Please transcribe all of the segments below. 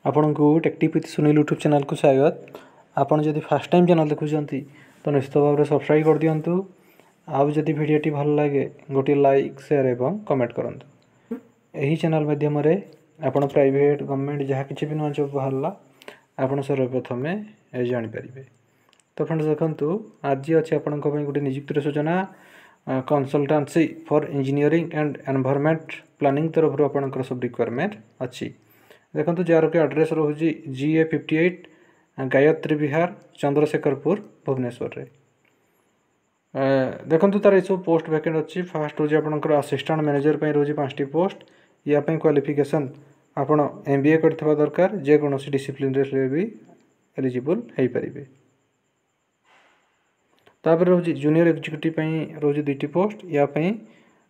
ଆପଣଙ୍କୁ take with Sunil YouTube ଚ୍ୟାନେଲ୍କୁ ସ୍ୱାଗତ। ଆପଣ ଯଦି ଫାର୍ଷ୍ଟ ଟାଇମ୍ ଚ୍ୟାନେଲ୍ ଦେଖୁଛନ୍ତି, ତ ନିଶ୍ଚିତ ଭାବରେ ସବସ୍କ୍ରାଇବ୍ କରିଦିଅନ୍ତୁ। ଆଉ ଯଦି ଭିଡ଼ିଓଟି ଭଲ ଲାଗେ, ଗୋଟିଏ ଲାଇକ୍, ସେୟାର ଏବଂ କମେଣ୍ଟ କରନ୍ତୁ। ଏହି ଚ୍ୟାନେଲ୍ ମାଧ୍ୟମରେ ଆପଣ ପ୍ରାଇଭେଟ୍, ଗଭର୍ଣ୍ଣମେଣ୍ଟ ଯାହା କିଛି ବି ନୂଆ ଜବ୍ ବାହାରିଲା, ଆପଣ ସର୍ବପ୍ରଥମେ ଜାଣିପାରିବେ। ତ ଫ୍ରେଣ୍ଡସ୍, ଦେଖନ୍ତୁ, ଆଜି ଅଛି ଆପଣଙ୍କ ପାଇଁ ଗୋଟେ ନିଯୁକ୍ତିର ସୂଚନା। Consultancy for engineering and environment planning ତରଫରୁ ଆପଣଙ୍କର ସବୁ ରିକ୍ୱାରମେଣ୍ଟ ଅଛି। ଦେଖନ୍ତୁ, ଯାହାର କି ଆଡ୍ରେସ୍ ରହୁଛି GA 58, Gayatri Bihar, Chandrasekharpur, ଭୁବନେଶ୍ୱରରେ। ଦେଖନ୍ତୁ, ତାର ଏସବୁ ପୋଷ୍ଟ ଭ୍ୟାକେଣ୍ଟ ଅଛି। ଫାଷ୍ଟ ହେଉଛି ଆପଣଙ୍କର ଆସିଷ୍ଟାଣ୍ଟ ମ୍ୟାନେଜର ପାଇଁ ରହୁଛି ପାଞ୍ଚଟି ପୋଷ୍ଟ। ୟା ପାଇଁ କ୍ୱାଲିଫିକେସନ୍ ଆପଣ ଏମ୍ ବି ଏ କରିଥିବା ଦରକାର। ଯେକୌଣସି ଡିସିପ୍ଲିନରେ ହେଲେ ବି ଏଲିଜିବୁଲ୍ ହେଇପାରିବେ। ତାପରେ ରହୁଛି ଜୁନିୟର ଏକ୍ଜିକ୍ୟୁଟିଭ୍ ପାଇଁ ରହୁଛି ଦୁଇଟି ପୋଷ୍ଟ। ୟା ପାଇଁ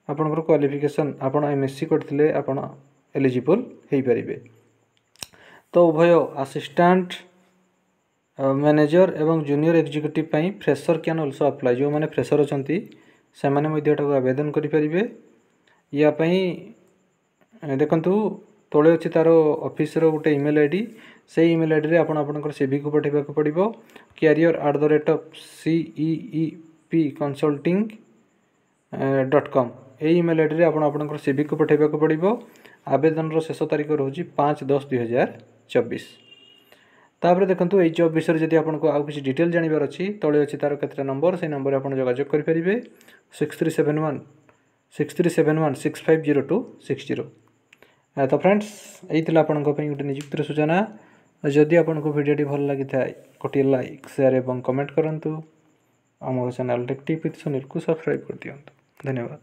ଆପଣଙ୍କର କ୍ୱାଲିଫିକେସନ୍ ଆପଣ ଏମ୍ ଏସ୍ ସି କରିଥିଲେ ଆପଣ ଏଲିଜିବୁଲ୍ ହେଇପାରିବେ। ତ ଉଭୟ ଆସିଷ୍ଟାଣ୍ଟ ମ୍ୟାନେଜର ଏବଂ ଜୁନିୟର ଏକ୍ଜିକ୍ୟୁଟିଭ୍ ପାଇଁ ଫ୍ରେସର can also apply. ଯେଉଁମାନେ ଫ୍ରେସର ଅଛନ୍ତି, ସେମାନେ ମଧ୍ୟ ଏଟାକୁ ଆବେଦନ କରିପାରିବେ। ୟା ପାଇଁ ଦେଖନ୍ତୁ, ତଳେ ଅଛି ତା'ର ଅଫିସର ଗୋଟେ ଇମେଲ୍ I D. ସେଇ ଇମେଲ୍ ଆଇଡ଼ିରେ ଆପଣ ଆପଣଙ୍କର ସିଭିକୁ ପଠାଇବାକୁ ପଡ଼ିବ, career@CEEP consulting.com। ଏଇ ଇମେଲ୍ ଆଇଡ଼ିରେ ଆପଣ ଆପଣଙ୍କର ସିଭିକୁ ପଠାଇବାକୁ ପଡ଼ିବ। ଆବେଦନର ଶେଷ ତାରିଖ ରହୁଛି 5/10/2024। ତାପରେ ଦେଖନ୍ତୁ, ଏଇ ଜବ୍ ବିଷୟରେ ଯଦି ଆପଣଙ୍କୁ ଆଉ କିଛି ଡିଟେଲ୍ ଜାଣିବାର ଅଛି, ତଳେ ଅଛି ତା'ର କେତେଟା ନମ୍ବର। ସେଇ ନମ୍ବରରେ ଆପଣ ଯୋଗାଯୋଗ କରିପାରିବେ, 6371 6371650260। ତ ଫ୍ରେଣ୍ଡସ୍, ଏଇ ଥିଲା ଆପଣଙ୍କ ପାଇଁ ଗୋଟେ ନିଯୁକ୍ତିର ସୂଚନା। ଯଦି ଆପଣଙ୍କୁ ଭିଡ଼ିଓଟି ଭଲ ଲାଗିଥାଏ, ଗୋଟିଏ ଲାଇକ୍, ସେୟାର ଏବଂ କମେଣ୍ଟ କରନ୍ତୁ। ଆମ ଚ୍ୟାନେଲ୍ ଟେକ୍ ୱିଥ୍ ସୁନୀଲକୁ ସବସ୍କ୍ରାଇବ୍ କରିଦିଅନ୍ତୁ। ଧନ୍ୟବାଦ।